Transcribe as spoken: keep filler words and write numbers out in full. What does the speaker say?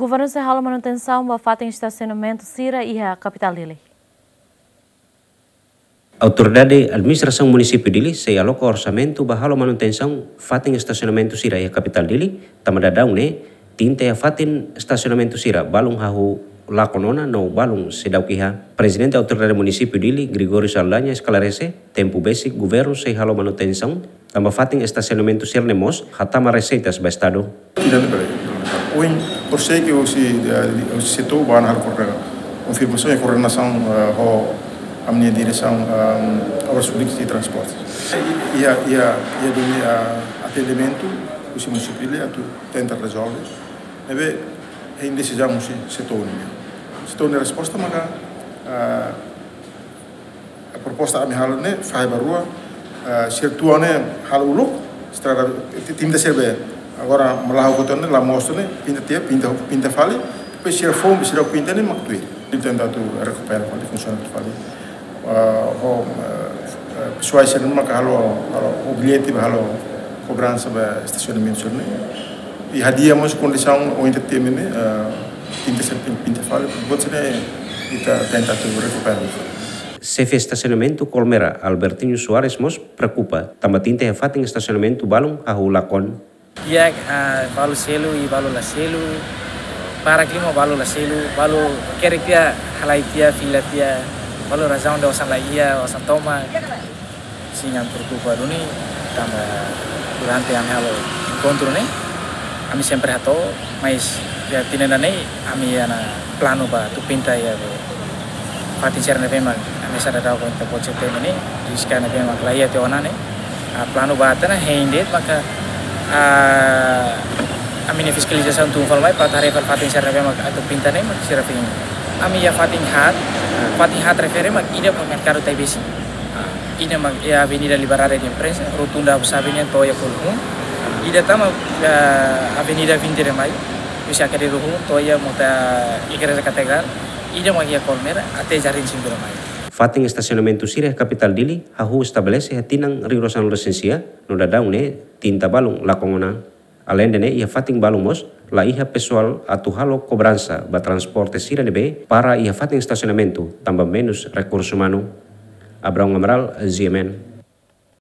Governu sei halo manutensaun ba fatin estasionamentu sira iha kapitál Dili. Autoridade Administrasaun Munisípiu Dili sei aloka orsamentu ba halo manutensaun fatin estasionamentu sira iha kapitál Dili, tanba daudaun ne'e, trinta fatin estasionamentu sira balun hahú lakon ona no balun seidauk iha. Prezidente Autoridade Munisípiu Dili, Gregório Saldanha, esklarese, tempu besik governu sei halo manutensaun, tanba fatin estasionamentu sira-ne'e mós hatama reseitas ba Estadu. Tidak ada. Ohin, por sei ke husi, eh, husi setór bá halo koordena-, konfirmasaun i koordenasaun, eh, ho ami-nia diresaun, ehm, Obras Públikas i Transportes. Iha, iha, iha dunia, eh, atendimentu husi munisípiu Dili atu tenta rezolve. Ne'ebé, hein desizaun husi setór nian. Setór nia resposta maka, eh, a proposta ami halo ne'e, fahe ba rua, eh, sira tua ne'e halo uluk, estrada, ti-, tinta sira be. Agora, malaho kotor ne'e, la mostu ne'e, pinta tiha, pinta, pinta fali, depois sira foun, sira pinta ne'e, mak tuir. Tenta atu rekupera fali, funsiona fali. Eh, ho, eh, eh, pesoál sira maka halo, halo, objetivu halo kobransa ba estasionamentu sira ne'e. I hadi'a mós kondisaun ohin ita temi ne'e, eh, pinta sira pin-, pinta fali, buat sira ne'e ita tenta atu rekupera. Xefe estasionamentu Colmera, Albertinho Soares mós preokupa, tanba trinta fatin estasionamentu balun hahú lakon. Iha, ah, balu selu i balu la selu, para klima balu la selu, balu kere tiha, halai tiha, fila tiha, balu razaun ida osan la iha, osan tomak. Sin, ami preokupa duni, tanba durante ami halo enkontru ne'e, ami sempre hato'o, mas iha tinan ida-ne'e, ami iha ona planu ba atu pinta iha be fatin sira ne'ebé mak ami seidauk konta pojek temi ne'e, diska ne'ebé mak la iha tiha ona ne'e. Ah, planu ba tiha ona hein de'it maka, ah, ami-nia fiskalizasaun tun fali mai, para haree fali fatin sira ne'ebé mak atu pinta ne'e mak sira fini. Ami iha fatin haat, fatin haat refere mak ida ba merkadu Taibesi. Ah, ida mak iha Avenida Liberdade de Imprensa, rotunda Abu Sabi nian to'o iha Kolhun. Ida tan mak, ah, Avenida vinte de Maio, husi Acre Ruhu to'o iha mota Igreja Katedrál. Ida mak iha Colmera até Jardim Cinco de Maio. Fatin estasionamentu sira iha kapitál Dili hahú estabelese iha tinan rihun rua sanulu-resin-sia, no daudaun ne'e trinta balun lakon ona. Aleinde ne'e, iha fatin balun mós la iha pesoál atu halo kobransa ba transporte sira ne'ebé para iha fatin estasionamentu, tanba menus rekursu umanu. Abraão Amaral, G M N.